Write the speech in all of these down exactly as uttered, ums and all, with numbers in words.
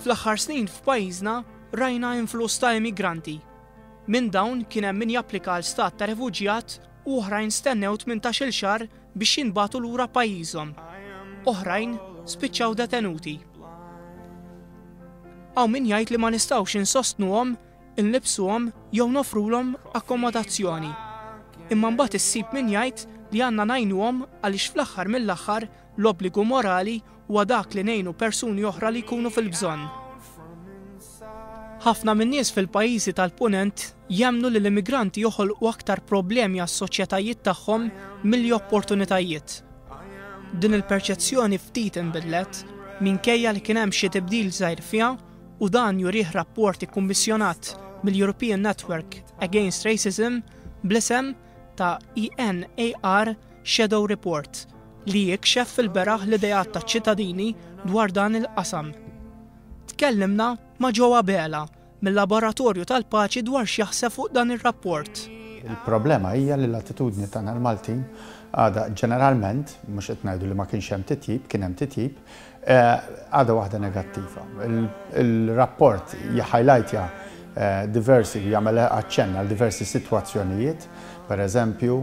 Fl-aħħar snin f'pajjiżna rajna influss ta' immigranti. Minn dawn kien hemm min japplika għal stat ta' refuġjat u oħrajn stennew tmintax-il xahar biex jinbagħtu lura pajjiżhom. Oħrajn spiċċaw detenuti. Hawn min jgħid li ma nistgħux insostnuhom, inlibsuhom jew nofrulhom akkomodazzjoni. Imma mbagħad issib min jgħid li għandna ngħinuhom għaliex fl-aħħar mill-aħħar l-obbligu morali huwa dak li ngħinu persuni oħra li jkunu fil-bżonn. Ħafna min-nies fil-pajjiżi tal-Punent jemmnu li l-immigranti joħolqu aktar problemi għas-soċjetajiet tagħhom milli opportunitajiet. Din il-perċezzjoni ftit inbidlet minkejja li kien hemm xi tibdil żgħir fiha u dan jurih rapport ikkummissjonat mill-European Network Against Racism bl-isem ta' E N A R Shadow Report li jikxef fil-beraħ l-idejat ta' ċittadini dwar dan il-qasam. Tkellimna ma' Joe Abela mill-Laboratorju tal-Paċi dwar x'jaħseb fuq dan ir-rapport. Il-problema hija li l-attitudni tagħna l-Maltin għadha ġeneralment, mhux qed ngħidu li ma kienx hemm titjib, kien hemm titjib, eh, għadha waħda negattiva. Il-rapport jħajlajtja eh, diversi, jagħmel aċċenna għal diversi sitwazzjonijiet, per eżempju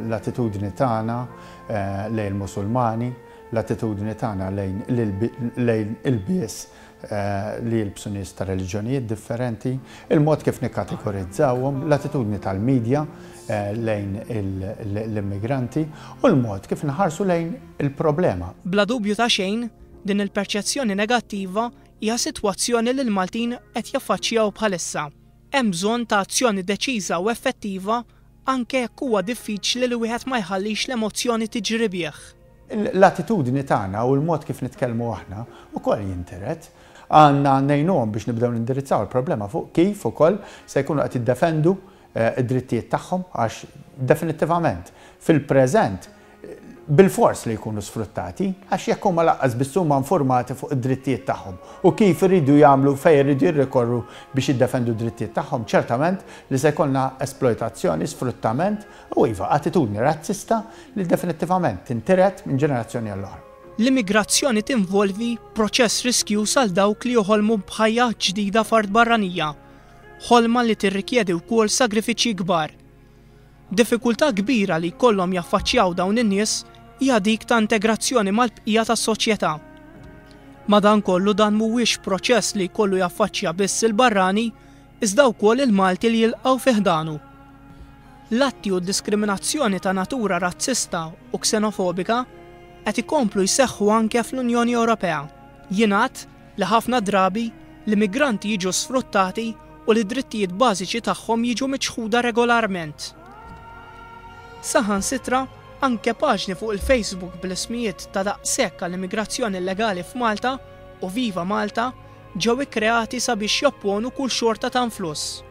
l-attitudni tagħna eh, lejn il-Musulmani, l-attitudni tagħna lejn l-ilbies li jilbsu nies ta' reliġjonijiet differenti, il-mod kif nikkategorizzawhom, l-attitudni tal-medja lejn l-immigranti u l-mod kif nħarsu lejn il-problema. Bla dubju ta' xejn, din il-perċezzjoni negattiva hija sitwazzjoni li l-Maltin qed jaffaċċjaw bħalissa. Hemm bżonn ta' azzjoni deċiża u effettiva, anke jekk huwa diffiċli li wieħed ma jħallix l-emozzjoni tiġri bih. L-attitudni tagħna u l-mod kif nitkellmu aħna ukoll jintiret. Għandna ngħinuhom biex nibdew nindirizzaw il-problema fuq kif ukoll se jkunu qed jiddefendu eh, id-drittijiet tagħhom, għax definittivament fil-preżent bil-fors li jkunu sfruttati, għax jekk huma lanqas biss huma informati fuq id-drittijiet tagħhom u kif iridu jagħmlu, fejn iridu jirrikorru biex jiddefendu d-drittijiet tagħhom, ċertament li se jkollna esploitazzjoni, sfruttament u, iva, attitudni razzista li definittivament tintiret minn ġenerazzjoni għall-oħra. L-immigrazzjoni tinvolvi proċess riskjuż għal dawk li joħolmu b'ħajja ġdida f'art barranija, ħolma li tirrikjedi wkoll sagrifiċċji kbar. Diffikultà kbira li jkollhom jaffaċċjaw dawn in-nies hija dik ta' integrazzjoni mal-bqija tas-soċjetà. Madankollu, dan mhuwiex proċess li jkollu jaffaċċja biss il-barrani, iżda wkoll il-Malti li jilqgħu fi ħdanu. L-atti u d-diskriminazzjoni ta' natura razzista u ksenofobika qed ikomplu jseħħu anke fl-Unjoni Ewropea. Jingħad li ħafna drabi l-immigranti jiġu sfruttati u li drittijiet bażiċi tagħhom jiġu miċħuda regolarment. Saħansitra anke paġni fuq il-Facebook bl-ismijiet ta' "Daqshekk għall-immigrazzjoni illegali f'Malta" u "Viva Malta" ġew ikkreati sabiex jopponu kull xorta ta' influss.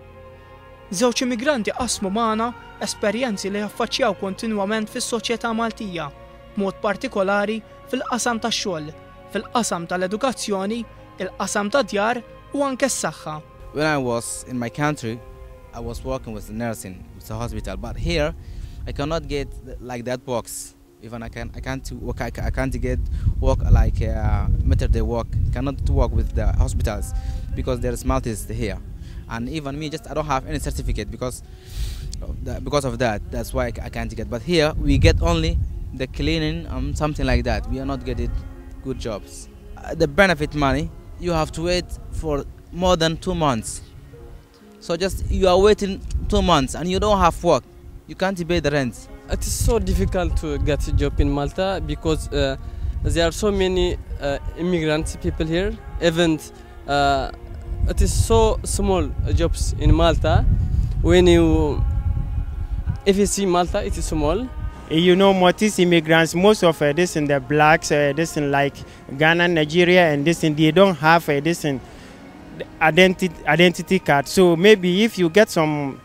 Żewġ immigranti qasmu magħna esperjenzi li jaffaċċjaw kontinwament fis-soċjetà Maltija, b'mod partikolari fil-qasam tax-xogħol, fil-qasam tal-edukazzjoni, il-qasam tad-djar u anke s-saħħa. When I was in my country, I was working with the nursing, with the hospital, but here I cannot get like that works. Even I can I can't work I, I can't get work like uh, maternity work. Cannot work with the hospitals because there is Maltese here, and even me, just I don't have any certificate because of that, because of that. That's why I can't get. But here we get only the cleaning and something like that. We are not getting good jobs. Uh, the benefit money, you have to wait for more than two months. So just you are waiting two months and you don't have work. You can't pay the rent. It is so difficult to get a job in Malta because uh, there are so many uh, immigrant people here. Even uh, it is so small jobs in Malta. When you, if you see Malta, it is small. You know, Maltese immigrants, most of uh, this in the blacks, uh, this in like Ghana, Nigeria, and this in they don't have uh, this in identity identity card. So maybe if you get some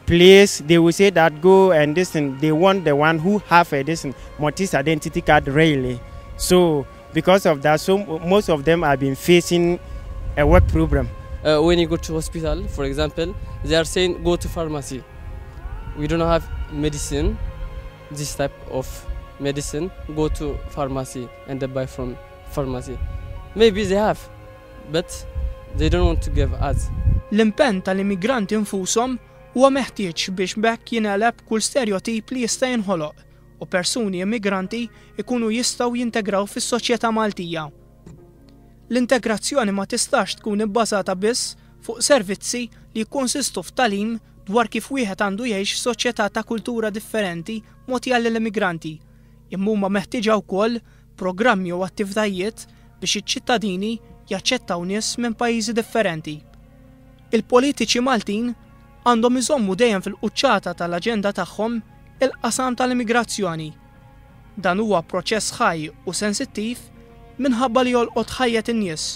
place, they will say that go and this and they want the one who have a this Maltese identity card, really. So because of that, so most of them have been facing a work problem. Uh, when you go to hospital, for example, they are saying go to pharmacy. We don't have medicine, this type of medicine. Go to pharmacy and they buy from pharmacy. Maybe they have, but they don't want to give us. L-impenn tal-immigranti infushom huwa meħtieġ biex b'hekk jingħeleb kull stereotip li jista' jinħoloq u persuni immigranti ikunu jistgħu jintegraw fis-soċjetà Maltija. L-integrazzjoni ma tistax tkun ibbażata biss fuq servizzi li jikkonsistu f'tagħlim dwar kif wieħed għandu jgħix f'soċjetà ta' kultura differenti mogħtija lill-immigranti, imma huma meħtieġa wkoll programmi u attivitajiet biex iċ-ċittadini jaċċettaw nies minn pajjiżi differenti. Il-politiċi Maltin għandhom iżommu dejjem fil-quċċata tal-aġenda tagħhom il-qasam tal-immigrazzjoni. Dan huwa proċess ħaj u sensittiv minħabba li jolqot ħajjet in-nies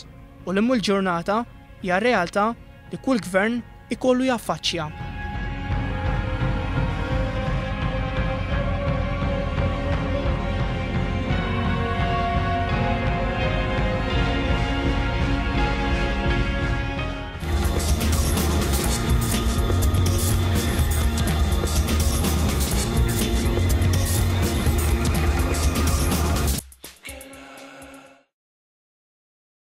u li l-ġurnata hija realtà li kull gvern ikollu jaffaċċja.